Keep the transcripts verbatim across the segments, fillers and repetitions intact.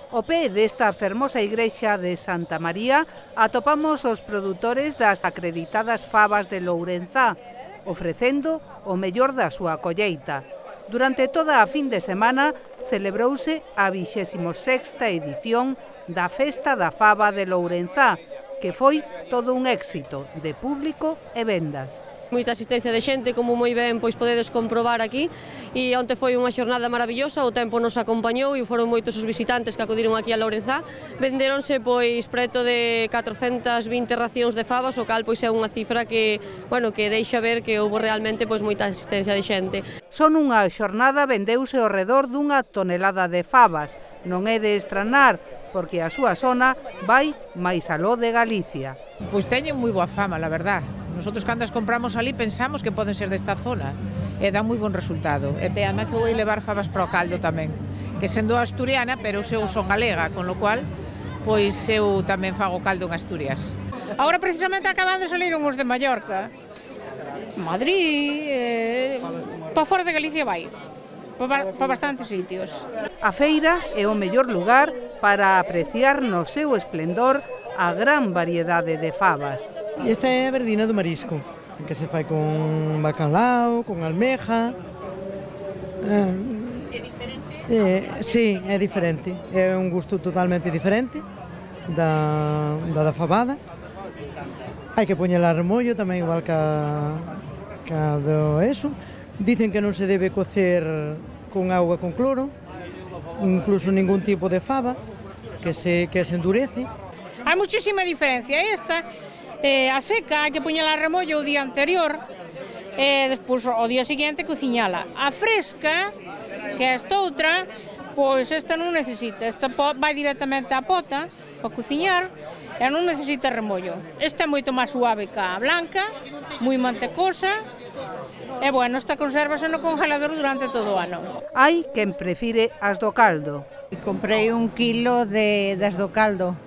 Ao pé desta fermosa igrexa de Santa María atopamos os produtores das acreditadas fabas de Lourenzá, ofrecendo o mellor da súa colleita. Durante toda a fin de semana celebrouse a vixésima sexta edición da Festa da Faba de Lourenzá, que foi todo un éxito de público e vendas. Moita asistencia de xente, como moi ben pois podedes comprobar aquí, e onte foi unha xornada maravillosa, o tempo nos acompañou e foron moitos os visitantes que acudiron aquí a Lourenzá. Vendéronse pois preto de catrocentas vinte racións de fabas, o cal pois é unha cifra que, bueno, que deixa ver que houve realmente pois moita asistencia de xente. Son unha xornada vendeuse ao redor dunha tonelada de fabas. Non é de estranar, porque a súa zona vai máis aló de Galicia. Pois teñen moi boa fama, la verdad. Nosotros cando as compramos ali pensamos que poden ser desta zona e dá moi bon resultado. E además eu vou levar fabas para o caldo tamén, que sendo asturiana, pero eu son galega, con lo cual pois eu tamén fago caldo en Asturias. Agora precisamente acaban de salir uns de Mallorca, Madrid, eh, para fora de Galicia vai, para, para bastantes sitios. A feira é o mellor lugar para apreciar no seu esplendor a gran variedade de fabas. Esta é a verdina do marisco, que se fai con bacalao, con almeja. É diferente? Eh, sí, é diferente. É un gusto totalmente diferente da, da, da fabada. Hai que poñela a remollo tamén igual que a do eso. Dicen que non se debe cocer con auga con cloro, incluso ningún tipo de faba, que se, que se endurece. Hai muchísima diferencia. Esta, eh, a seca, hai que poñela a remollo o día anterior, e despois o día seguinte cociñala. A fresca, que é esta outra, pois esta non necesita. Esta vai directamente á pota para cociñar e non necesita remollo. Esta é moito máis suave que a blanca, moi mantecosa, e bueno, esta consérvase no congelador durante todo o ano. Hai quen prefire as do caldo. Comprei un kilo de, das do caldo.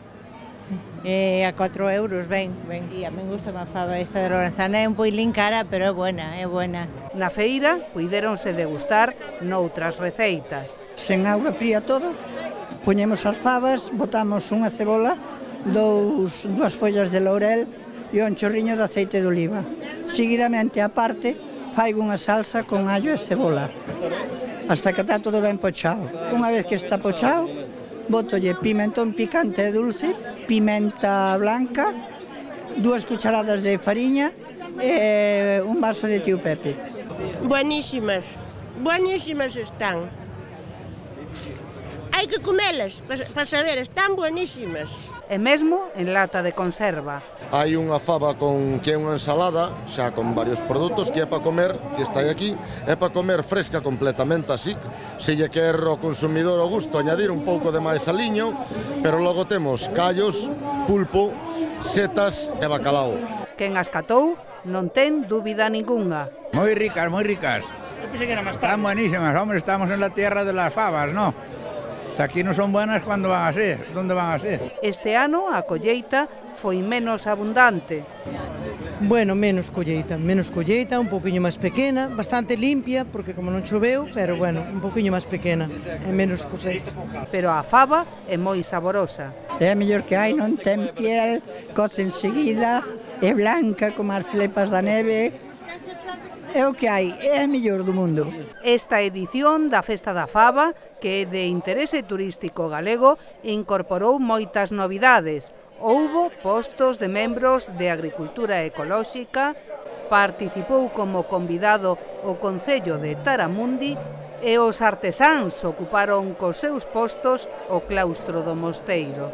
Eh, a cuatro euros, ben, ben. E a min gusta má faba esta de Lourenzá, é un poilín cara, pero é buena, é buena. Na feira puidéronse degustar noutras receitas. Sen auga fría todo, poñemos as fabas, botamos unha cebola, dous, dúas follas de laurel e un chorriño de aceite de oliva. Seguidamente, a parte, fai unha salsa con allo e cebola, hasta que está todo ben pochado. Unha vez que está pochado, botolle pimentón picante e dulce, pimenta blanca, dúas cucharadas de fariña e un vaso de tío Pepe. Buenísimas, buenísimas están. Hai que comelas para saber, están buenísimas. E mesmo en lata de conserva. Hai unha faba con que é unha ensalada, xa con varios produtos, que é para comer, que está aquí, é para comer fresca completamente así. Se lle quer ao consumidor o gusto añadir un pouco de máis aliño, pero logo temos callos, pulpo, setas e bacalao. Quen as catou non ten dúbida ningunha. Moi ricas, moi ricas. Están buenísimas, hombre, estamos en la tierra de las fabas, ¿no? Aquí non son buenas, cando van a ser? Donde van a ser? Este ano a colleita foi menos abundante. Bueno, menos colleita, menos colleita, un poquinho máis pequena, bastante limpia, porque como non choveu, pero bueno, un poquinho máis pequena, e menos cosecha. Pero a faba é moi saborosa. É a mellor que hai, non ten piel, coce enseguida, é blanca como as flepas da neve. É o que hai, é a mellor do mundo. Esta edición da Festa da Faba, que é de interese turístico galego, incorporou moitas novidades. Houbo postos de membros de Agricultura Ecolóxica, participou como convidado o Concello de Taramundi e os artesáns ocuparon cos seus postos o claustro do mosteiro.